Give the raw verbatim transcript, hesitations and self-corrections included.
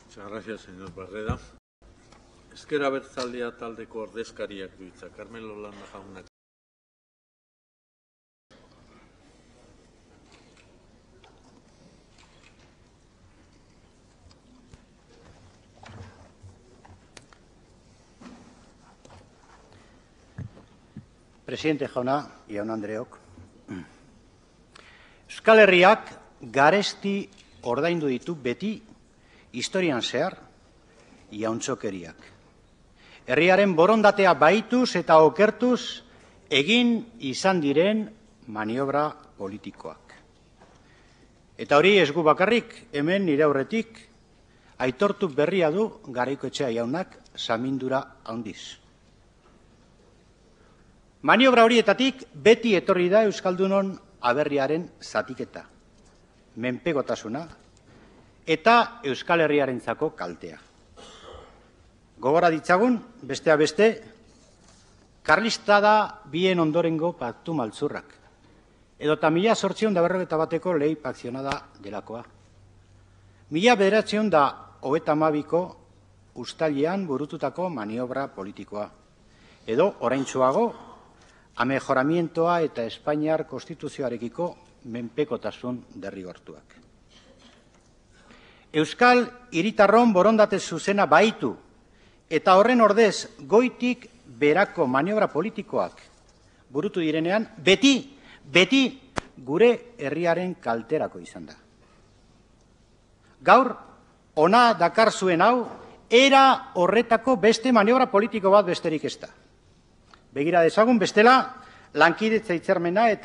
Muchas gracias, señor Barreda. Ezker Abertzalea taldeko ordezkariak du hitza. Carmelo Landa jaunak. Presidente jauna, jaun Andreok. Euskal Herriak garesti ordaindu ditu beti historian zehar jauntxokeriak. Herriaren borondatea baituz eta okertuz egin izan diren maniobra politikoak. Eta hori ez gu bakarrik, hemen nire aurretik aitortu berria du Garaikoetxea jaunak samindura handiz. Maniobra horietatik beti etorri da Euskaldunon aberriaren zatiketa, menpekotasuna eta Euskal Herriarentzako kaltea. Gogora ditzagun, bestea beste, karlistada bien ondorengo paktu maltzurrak, edota mila zortzion da berrogeta bateko lehi pakzionada delakoa. Mila bederatzion da hogeita hamabiko uztailean burututako maniobra politikoa, edo oraintsuago, amejoramientoa eta Espainiar konstituzioarekiko menpekotasun derrigortuak. Euskal hiritarron borondate zuzena baitu eta horren ordez goitik berako maniobra politikoak burutu direnean, beti, beti gure herriaren kalterako izan da. Gaur, ona dakar zuen hau, era horretako beste maniobra politiko bat besterik ez da. Begira dezagun, bestela, lankidetza hitzarmena eta